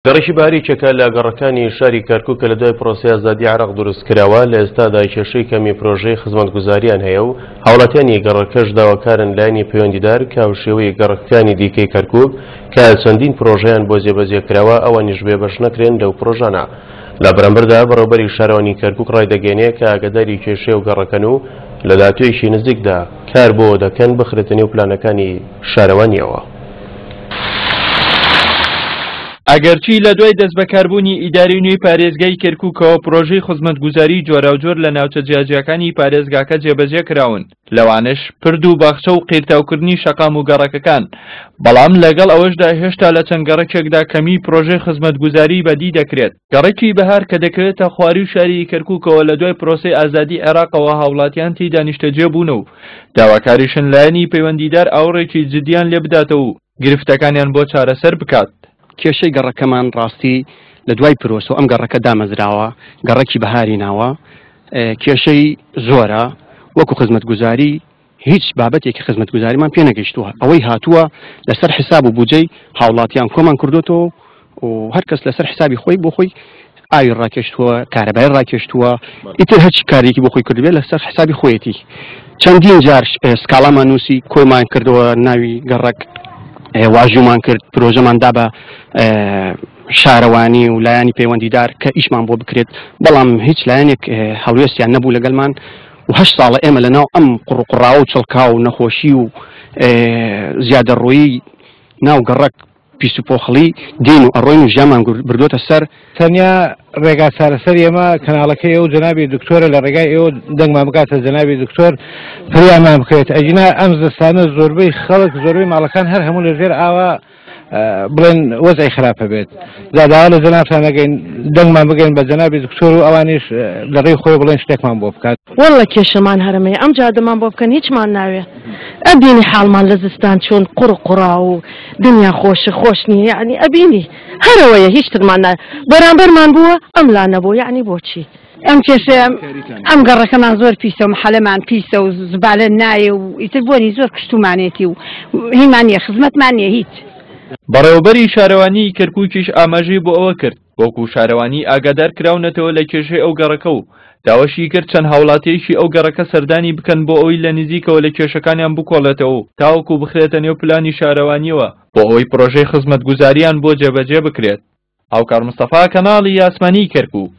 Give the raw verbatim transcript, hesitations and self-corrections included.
گەڕەکی بەهار یەکێکە لە گەڕەکانی شاری کەرکوک کە لە دوای پرۆسەی ئازادی عێراق دروست کراوە، لە ئێستادا کێشەی کەمی پرۆژەی خزمەتگوزاریان هەیە و هاوڵاتیانی گەڕەکەش داواکارن لایەنی پەیوەندیدار کە هاوشێوەی گەڕەکەکانی دیکەی کەرکوک کە چەندین پرۆژەیان بۆ جێبەجێ کراوە ئەوانیش بێبەش نەکرێن لەو پرۆژانە. لە بەرامبەردا بەڕێوەبەری شارەوانی کەرکوک ڕایدەگەیەنێ کە ئاگاداری کێشەی ئەو گەڕەکەن و لە داهاتوویەکی نزیکدا کار بۆ دەکەن بخرێتە نێو پلانەکانی شارەوانیەوە. ئەگەرچی لە دوای دەستبەکاربوونی ئیداری نوێی پارێزگای کەرکوکەوە پرۆژەی خزمەتگوزاری جۆراوجۆر لە ناوچە جیاجیاکانی پارێزگاکە جێبەجێ کراون، لەوانەش پرد و باخچە و قیرتاوکردنی شەقام و گەڕەکەکان، بەڵام لەگەڵ ئەوەشدا هێشتا لە چەند گەڕەکێکدا کەمی پرۆژەی خزمەتگوزاری بەدی دەکرێت. گەڕەکی بەهار کە دەکەوێتە خواروی شاری کەرکوکەوە لە دوای پرۆسەی ئازادی عێراقەوە هاوڵاتیان تێیدا نیشتەجێ بوون و داواکاریشن لایەنی پەیوەندیدار ئاوڕێکی جدیان لێ بداتەوە و گرفتەکانیان بۆ چارەسەر بکات. کێشەی گەڕەکەمان ڕاستی لە دوای پرۆسە ئەم گەڕەکە دامەزراوە، گەڕەکی بەهاری ناوە، کێشەی زۆرە، وەکو خزمەتگوزاری هیچ بابەتێکی خزمەتگوزاریمان پێ نەگەیشتووە. ئەوەی هاتووە لەسەر حساب و بودجەی هاوڵاتیان کۆمان کردوێتەوە و هەر کەس لەسەر حسابی خۆی بۆ خۆی ئاوی ڕاکێشتووە، کارەبای ڕاکێشتووە، ئیتر هەرچی کارێکی بۆ خۆی کردبێت لەسەر حسابی خۆیەتی. چەندین جار سکاڵامان نووسی، کۆمان کردەوە ناوی گەڕەک، واژومان کرد، پرۆژەمان دا بە شارەوانی و لایەنی پەیوەندیدار کە ئیشمان بۆ بکرێت، بەڵام هیچ لایەنێک هەڵوێستیان نەبوو لەگەڵمان و هەشت ساڵە ئێمە لەناو ئەم قوڕقڕاوە و چڵکاو و نەخۆشی و زیادەڕۆیی ناو گەڕەک پیس و پۆخڵی دین و ئەڕۆین و ژیانمان بردووەتە سەر. تەنیا ڕێگا چارەسەری ئێمە کەناڵەکەی ئێوە جەنابی دکتۆرە، لە ڕێگای ئێوە دەنگمان بکاتە جەنابی دکتۆر فریامان بکەوێت. ئەگینا ئەم زستانە زۆربەی خەڵک زۆربەی ماڵەکان هەر هەموو لەژێر ئاوا بڵێن وەزعی خراپە بێت. داوا لە جەنابتان نەگەین دەنگمان بگەین بە جەنابی دکتۆر و ئەوانیش لە ڕێی خۆی بڵێن شتێکمان بۆ بکات. والله کێشەمان هەرمەیە، ئەم جادەمان بۆ بکەن هیچمان ناوێ. ئەبینی حاڵمان لە زستان چۆن قوڕ قوڕا و دنیا خۆشە خۆش نییە، یعنی ئەبینی هەرەوەیە هیچ ترمان ناوێ. بەرامبەرمان بووە ئەم لا نەبوو، یعنی بۆچی؟ ئەم کێشەیە ئەم گەڕەکەمان زۆر پیسە و محەلەمان پیسە و زبالە نایە و ئیتر بۆنی زۆر کشتومانێتی و هیمان نییە، خزمەتمان نییە هیچ. بەڕێوەبەری شارەوانی کەرکوکیش ئاماژەی بۆ ئەوە کرد وەکو شارەوانی ئاگادار کراونەتەوە لە کێشەی ئەو گەڕەکە و داواشی کرد چەند هاوڵاتیەکی ئەو گەڕەکە سەردانی بکەن بۆ ئەوەی لە نزیکەوە لە کێشەکانیان بکۆڵێتەوە و تاوەکو بخرێتە نێو پلانی شارەوانیەوە بۆ ئەوەی پرۆژەی خزمەتگوزاریان بۆ جێبەجێ بکرێت. هاوکار مستەفا، کەناڵی ئاسمانی کەرکوک.